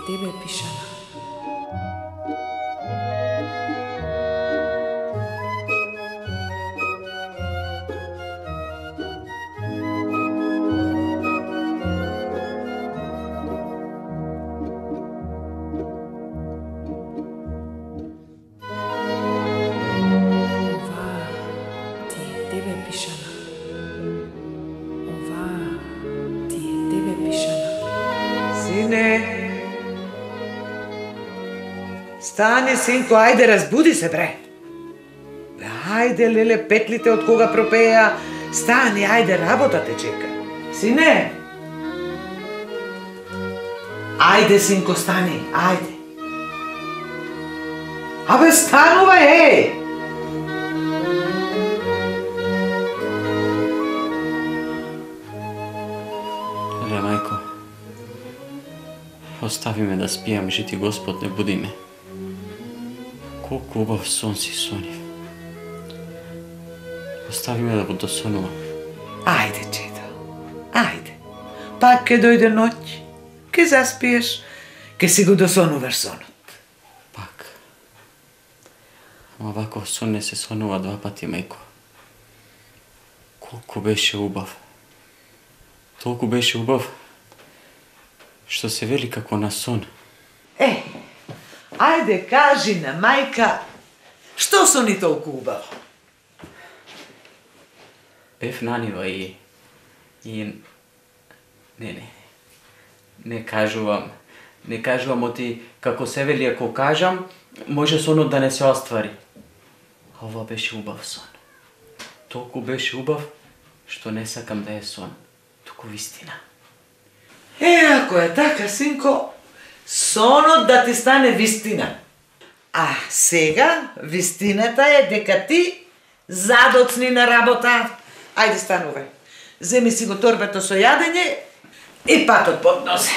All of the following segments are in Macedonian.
Тебе пишана. Стани, синко, ајде, разбуди се, бре. Бе, ајде, леле, петлите од кога пропеја. Стани, ајде, работа те чека. Сине! Ајде, синко, стани, ајде. Абе, станувај, е! Леле, мајко, остави ме да спијам, жити Господ, не буди ме. Колку убав сон си сонив. Остави ме да го досонувам. Ајде, чедо, ајде. Пак ке дојде ноќ, ке заспиеш, ке си го досонуваш сонот. Пак. Ама ваков сон не се сонува два пати, мајко. Колку беше убав. Толку беше убав, што се вели како на сон. Ајде, кажи на мајка, што сони толку убаво? Бев на нива и... Не кажувам. Не кажувам, оти како се вели, ако кажам, може сонот да не се оствари. А ова беше убав сон. Толку беше убав, што не сакам да е сон, туку вистина. Ако е така, синко, сонот да ти стане вистина. А сега, вистината е дека ти задоцни на работа. Ајде, станувај. Земи си го торбето со јадење и патот под нозе.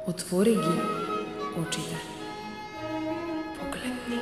Отвори ги очите. Погледни.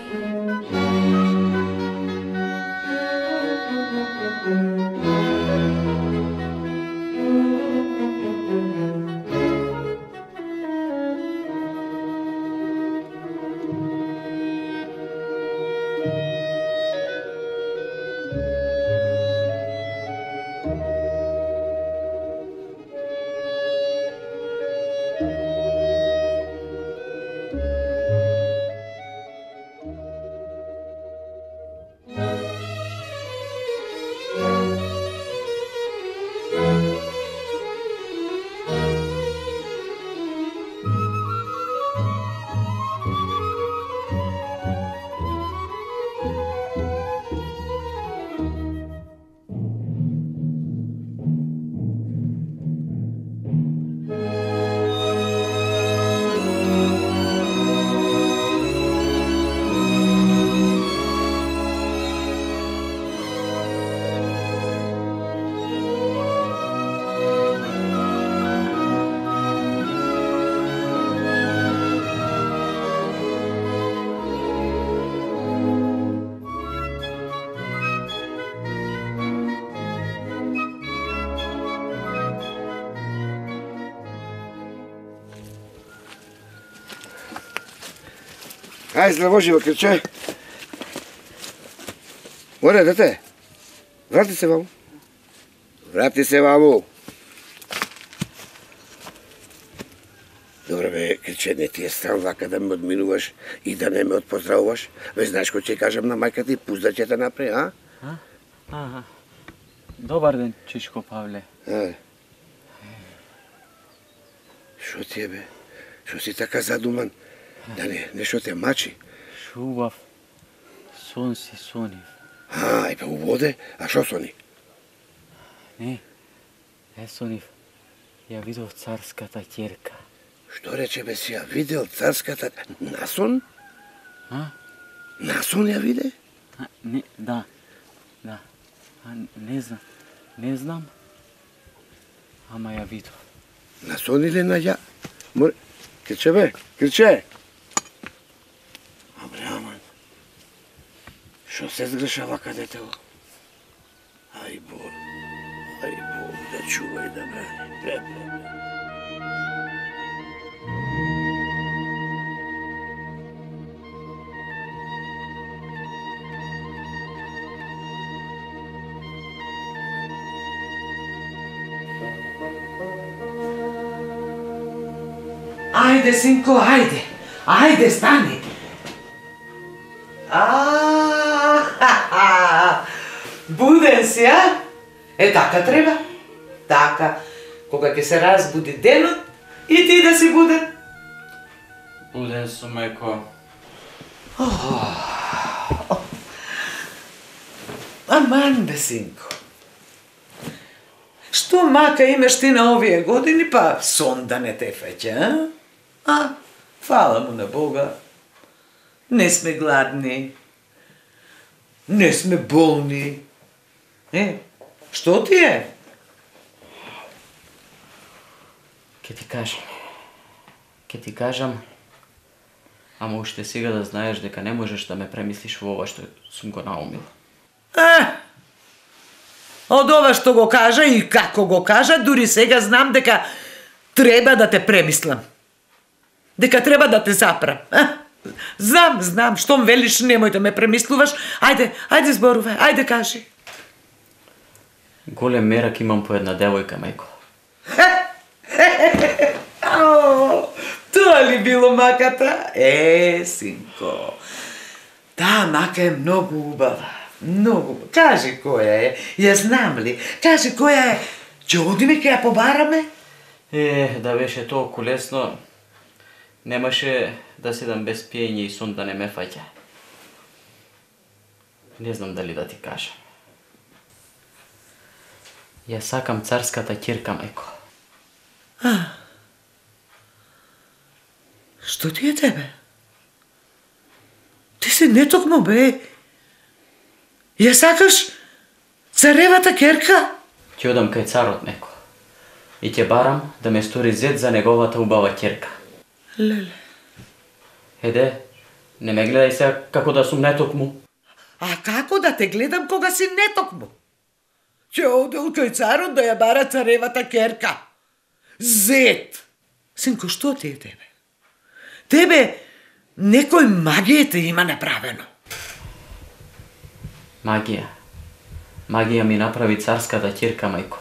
Ајде, здраво живо, крче. Море, дете. Врати се ваму. Врати се ваму. Добре, бе, крче, не ти е страм вака да ме одминуваш и да не ме отпоздравуваш? Бе, знаеш кој ќе кажам на мајка ти, пузда ќе те напре, а? Добар ден, Чичко Павле. Шо ти е, бе? Шо си така задуман? Да нешто те мачи? Шубав. Сон си сонив. И па уводе? А шо сони? Не сонив. Ја видов царската ќерка. Што рече, бе, си ја видел царската... Насон? Насон ја виде? Не, да. Не знам. Ама ја видов. Насон или на ја... Крче, бе, крче! Аман. Шо се сгрешава кадетево? Ај Бог да чува и да брани. Ајде, синко, ајде. Ајде, стани. Буден си, а? Така треба. Така. Кога ќе се разбуди денот, и ти да си буден. Буден сум, мајко. Аман, бе, синко. Што мака имаш ти на овие години, па сон да не те феќа, а? Фала му на Бога. Не сме гладни. Не сме болни. Што ти е? Ке ти кажам, ама уште сега да знаеш дека не можеш да ме премислиш во ова што сум го наумил. Од ова што го кажа и како го кажа, дури сега знам дека треба да те премислам. Дека треба да те запрам. Знам, штом велиш немој да ме премислуваш, ајде зборувај, ајде кажи. Голем мерак имам по една девојка, мајко. Тоа ли било маката? Синко, таа мака е многу убава. Многу. Кажи која е. Ја знам ли? Кажи која е. Ќе одиме ќе ја побараме? Да беше толку лесно, немаше да седам без пиење и сон да не ме фаќа. Не знам дали да ти кажам. Ја сакам царската ќерка, мајко. Што ти е тебе? Ти си нетокмо, бе. Ја сакаш царевата ќерка? Ќе одам кај царот неко и ќе барам да ме стори зет за неговата убава ќерка. Леле. Еде, не ме гледај сега како да сум нетокму. А како да те гледам кога си нетокму? Ќе одел кај царот да ја бара царевата ќерка. Зет! Синко, што ти е тебе? Тебе некој магија те има направено. Магија ми направи царската ќерка, мајко.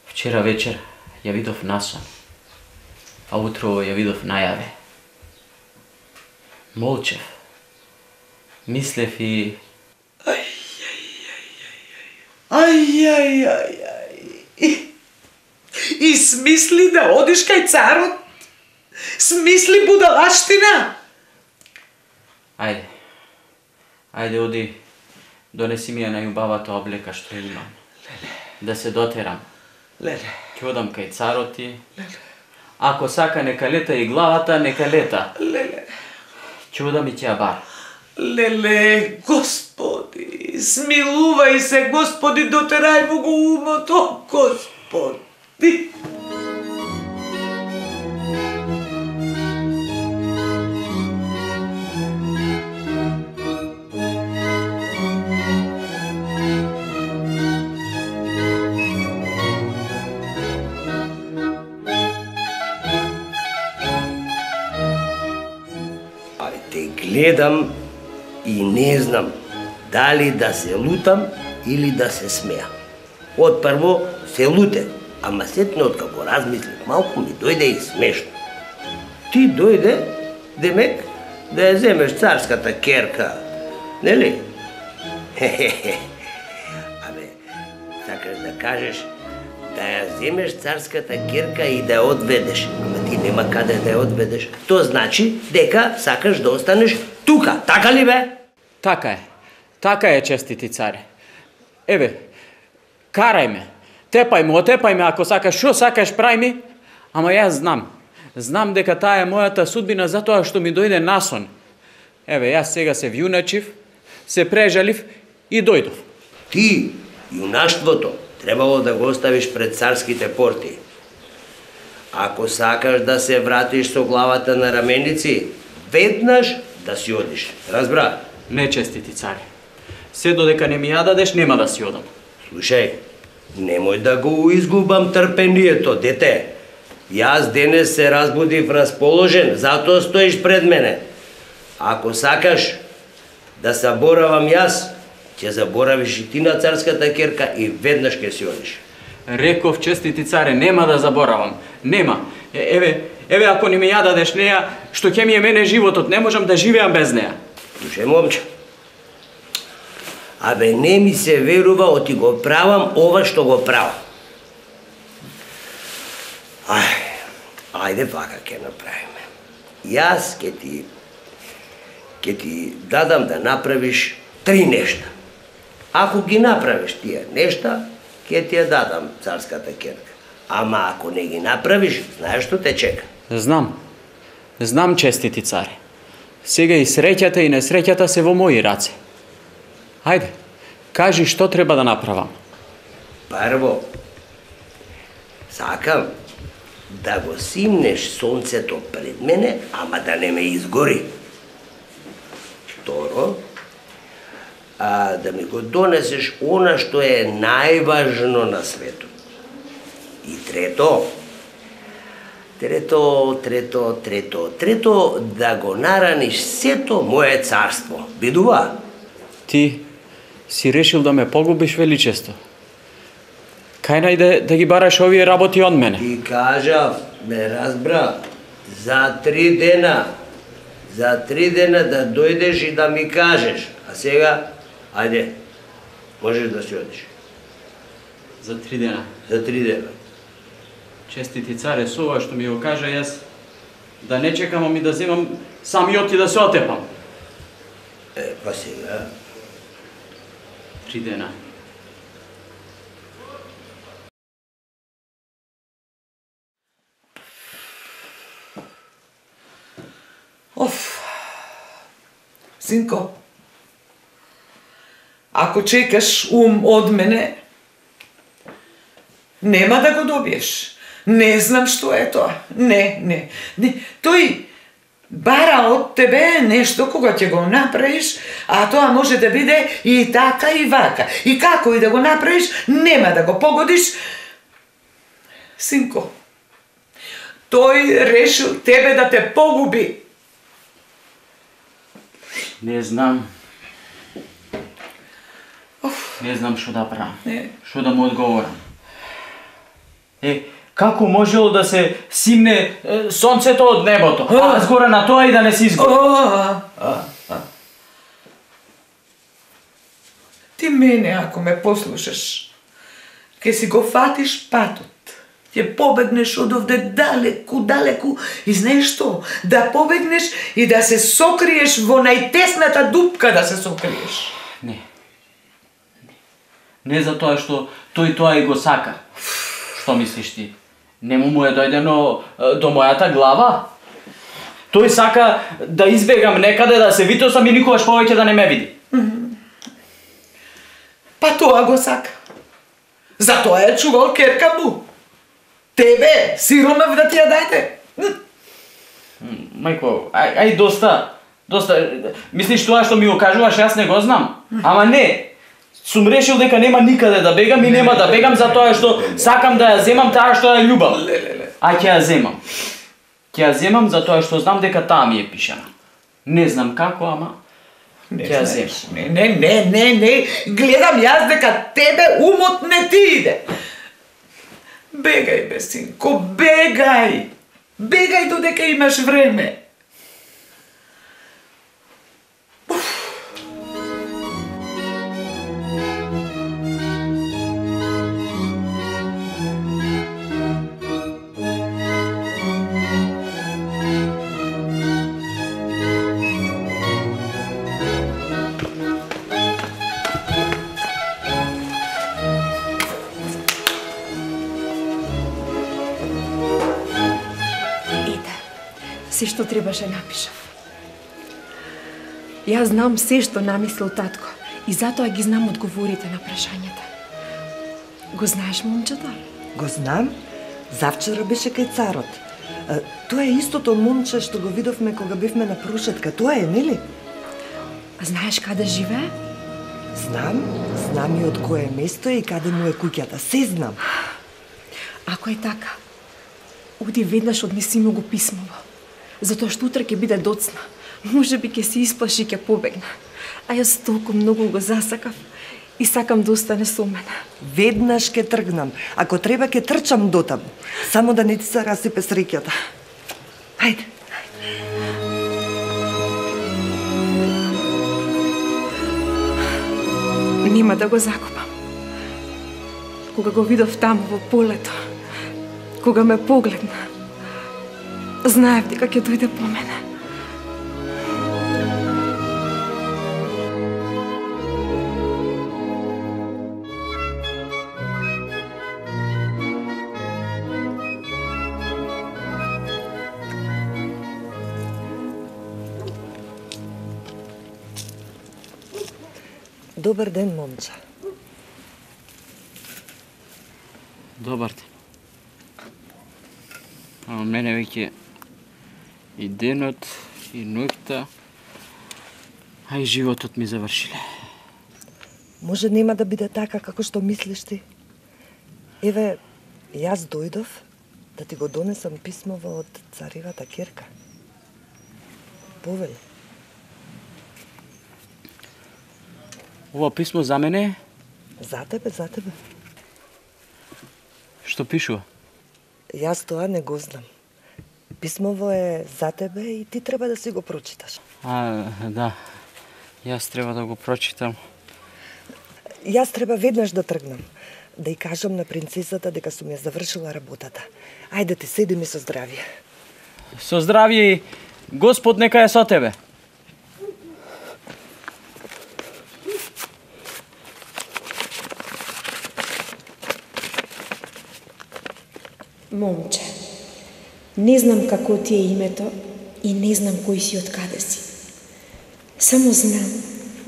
Вчера вечер ја видов насон, а утро ја видов најаве. Молчев, мислев и... И смисли да одиш кај царот? Смисли будалаштина? Ајде оди, донеси ми ја најубавата облека што имам. Да се дотерам. Ќе одам кај царот и... Ако сака нека лета и главата, нека лета. Ќе одам и ќе ја бар. Леле, Господи, смилувај се, Господи, дотерај му го умото, Господи. гледам и не знам дали да се лутам или да се смеам. Отпрво се лутев, ама сетне откако размислив малку ми дојде и смешно. Ти дојде, демек, да ја земеш царската керка, нели? Абе, сакаш да кажеш да ја земеш царската керка и да ја одведеш, ама ти нема каде да ја одведеш. Тоа значи дека сакаш да останеш тука, така ли бе? Така е, честити царе. Еве, карај ме, отепај ме, ако сакаш, шо сакаш прај ми, ама јас знам дека таа е мојата судбина затоа што ми дојде насон. Еве, јас сега се вјуначив, се прежалив и дојдов. Ти, јунаштвото, требало да го оставиш пред царските порти. Ако сакаш да се вратиш со главата на раменици, веднаш да си одиш. Разбра? Не, честити царе. Се додека не ми ја дадеш, нема да си одам. Слушај, немој да го изгубам трпението, дете. Јас денес се разбудив расположен, затоа стоиш пред мене. Ако сакаш да заборавам јас, ќе заборавиш и ти на царската керка и веднаш ќе си одиш. Реков, честити царе, нема да заборавам. Нема. Еве, ако не ми ја дадеш неја, што ќе ми е мене животот, не можам да живеам без неја. Слушај, момче. Абе, не ми се верува, оти го правам ова што го правам. Ајде вака ќе направиме. Јас ќе ти дадам да направиш 3 нешта. Ако ги направиш тие нешта, ќе ти ја дадам царската керка. Ама ако не ги направиш, знаеш што те чека? Знам, честити царе. Сега и среќата и несреќата се во мои раце. Хајде, кажи што треба да направам. Прво, сакам да го симнеш сонцето пред мене, ама да не ме изгори. Второ, да ми го донесеш она што е најважно на светот. И трето, да го нараниш сето мое царство. Бидува? Ти си решил да ме погубиш, величество. Кај најде да ги бараш овие работи од мене? Ти кажав, ме разбра, за 3 дена. За 3 дена да дојдеш и да ми кажеш. А сега, ајде, можеш да си одиш. За 3 дена. За 3 дена. Честити царе, со ова што ми го кажа, јас да не чекам, ами да земам самиот и да се отепам. Па сега... 3 дена. Синко, ако чекаш од мене, нема да го добиеш. Не знам што е тоа. Не. Тој бара од тебе нешто кога ќе го направиш, а тоа може да биде и така и вака. И како и да го направиш, нема да го погодиш. Синко, тој решил тебе да те погуби. Не знам. Не знам што да правам. Што да му одговорам. Како можело да се симне сонцето од небото, а згора на тоа и да не се изгори? Ти мене, ако ме послушаш, ќе си го фатиш патот. Ќе побегнеш од овде далеку, и знаеш што? Да побегнеш и да се сокриеш во најтесната дупка да се сокриеш. Не за тоа што тој тоа и го сака. Што мислиш ти? Не му е дојдено до мојата глава? Тој сака да избегам некаде, да се витосам и никогаш повеќе да не ме види. Па тоа го сака. Затоа е чувал керка му. Тебе, сиромав да ти ја дајте. Мајко, ај доста. Мислиш тоа што ми го кажуваш, јас не го знам. Ама не. Сум решил дека нема никаде да бегам и нема да бегам затоа што сакам да ја земам таа што ја љубам. А ќе ја земам. Ќе ја земам затоа што знам дека таа ми е пишана. Не знам како, ама Не ќе ја знаеш. земам. Не, гледам јас дека тебе умот не ти иде. Бегај, бе, синко, бегај! Бегај додека имаш време. Се што требаше напишав. Јас знам се што намислил татко и затоа ги знам одговорите на прашањата. Го знаеш момчето? Го знам. Завчера беше кај царот. Тоа е истото момче што го видовме кога бевме на прошетка. Тоа е, нели? А знаеш каде живее? Знам и од кое место е и каде му е куќата. Се знам. Ако е така, оди веднаш однеси му го писмово. Затоа што утре ќе биде доцна. Може би ќе се исплаши и ќе побегна. А јас толку многу го засакав и сакам да остане со мене. Веднаш ќе тргнам. Ако треба ќе трчам дотаму. Само да не ти се расипе среќата. Хајде. Нема да го закопам. Кога го видов таму во полето, кога ме погледна, знаев дека ќе дојде по мене. Добар ден, момче. Добар ден. Ама мене веќе и денот, и ноќта, а и животот ми завршиле. Може нема да биде така како што мислиш ти? Еве, јас дојдов да ти го донесам писмово од царевата ќерка. Повели. Ова писмо за мене е? За тебе. Што пишува? Јас тоа не го знам. Писмово е за тебе и ти треба да си го прочиташ. Да. Јас треба да го прочитам. Јас треба веднаш да тргнам. Да ја кажам на принцесата дека сум ја завршила работата. Ајде ти седи ми со здравје. Со здравје, Господ нека е со тебе. Момче, не знам како ти е името и не знам кој си од каде си. Само знам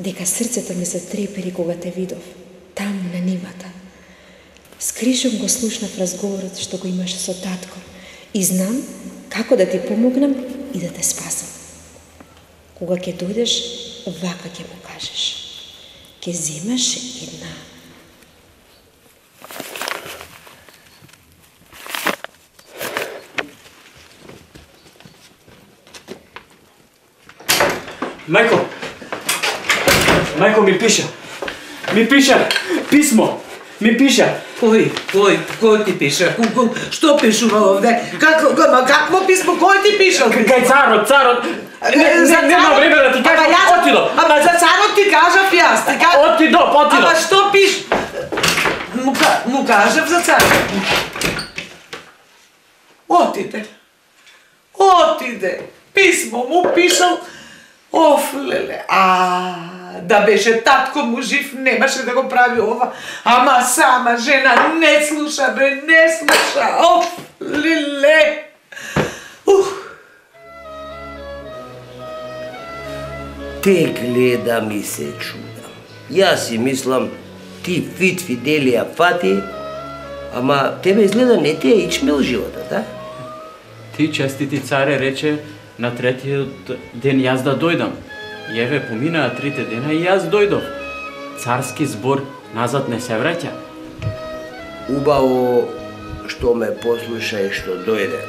дека срцето ми се трепери кога те видов, таму на нивата. Скришом го слушнав разговорот што го имаше со татко и знам како да ти помогнам и да те спасам. Кога ќе дојдеш, вака ќе му кажеш. Ќе земаш една. Мајко ми пиша писмо, ми пиша. Кој ти пиша? Што пишува овде? Какво писмо? Кој ти пишал? Кај царот. Нема време да ти кажам, отидов. Ама за царот ти кажав јас. Отидов. Ама што пиш? Му кажав за царот. Отиде. Писмо му пишал. Оф, леле, да беше татко му жив, немаше да го прави ова. Ама сама жена не слуша, не слуша. Оф, леле. Те гледам и се чудам. Јас си мислам, ти фит Фиделија фати, ама тебе изгледа не ти е ичмел животот, а? Ти, честити царе, рече на третиот ден јас да дојдам. И еве поминаа 3 дена и јас дојдов. Царски збор назад не се враќа. Убаво што ме послуша и што дојде.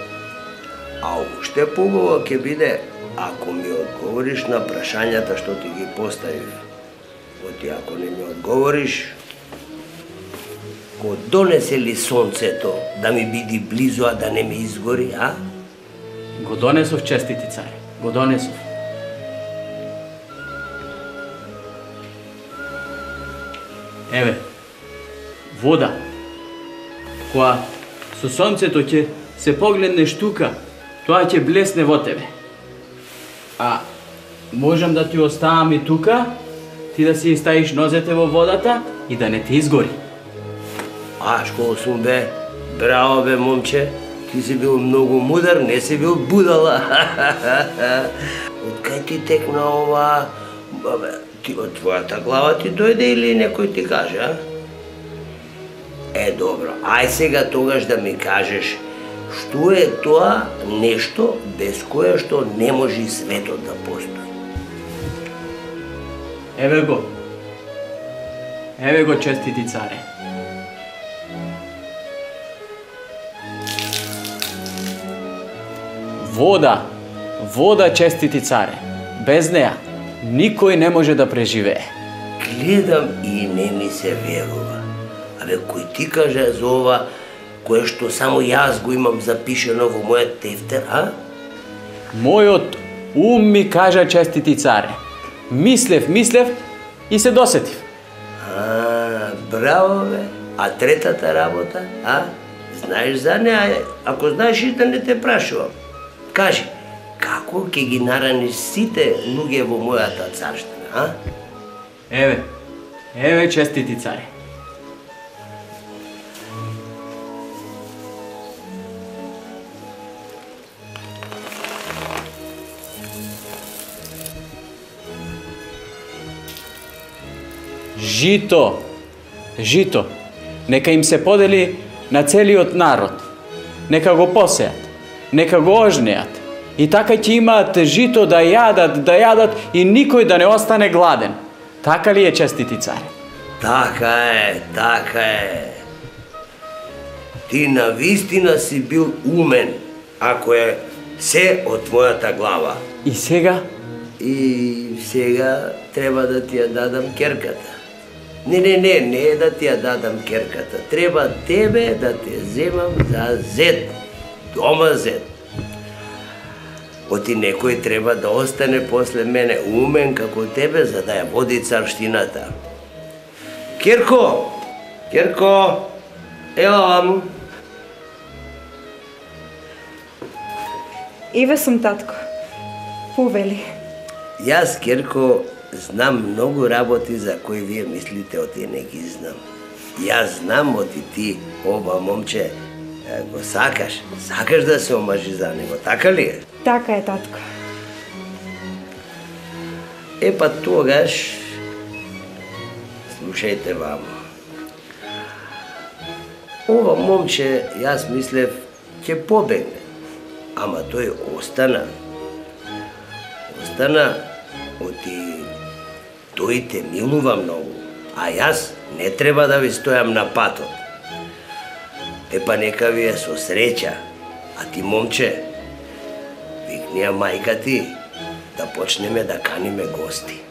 А уште побаво ќе биде ако ми одговориш на прашањата што ти ги поставив. Оти ако не ми одговориш, го донесе ли сонцето да ми биди близу, а да не ми изгори, а? Го донесов, честити царе, го донесов. Еве, вода, која со сонцето ќе се погледнеш тука, тоа ќе блесне во тебе. А можам да ти оставам и тука, ти да си ставиш нозете во водата и да не ти изгори. А школ сум бе, браво бе момче, ти си бил многу мудар, не си бил будала. Од кај ти текна ова, ти од твојата глава ти дојде или некој ти каже, а? Добро, ај сега тогаш да ми кажеш, што е тоа нешто без кое што не може и светот да постои? Еве го, честити царе. Вода, честити царе. Без неа никој не може да преживее. Гледам и не ми се верува. Абе, кој ти каже за ова, кое што само јас го имам запишено во мојот тефтер, а? Мојот ум ми кажа, честити царе. Мислев и се досетив. Браво бе. А третата работа, а? Знаеш за неа, ако знаеш и да не те прашувам. Кажи, како ќе ги нараниш сите луѓе во мојата царштина, а? Еве, честити царе. Жито, нека им се подели на целиот народ. Нека го посеат, нека го ожнеат. И така ќе имаат жито да јадат и никој да не остане гладен. Така ли е, честити царе? Така е. Ти навистина си бил умен, ако е се од твојата глава. И сега? И сега треба да ти ја дадам керката. Не е да ти ја дадам керката. Треба тебе да те земам за зет. Дома зет. Оти некој треба да остане после мене умен како тебе, за да ја води царштината. Керко, ева ваму. Еве сум, татко. Повели. Јас, Керко, знам многу работи за кои вие мислите оти не ги знам. Јас знам оти ти, ова момче, го сакаш да се омажи за него, така ли е? Така е, татко. Па тогаш, слушајте вамо. Ова момче, јас мислев, ќе побегне, ама тој остана. Оти тој те милува многу, а јас не треба да ви стојам на патот. Па нека ви е со среќа, а ти, момче, викни ја мајка ти да почнеме да каниме гости.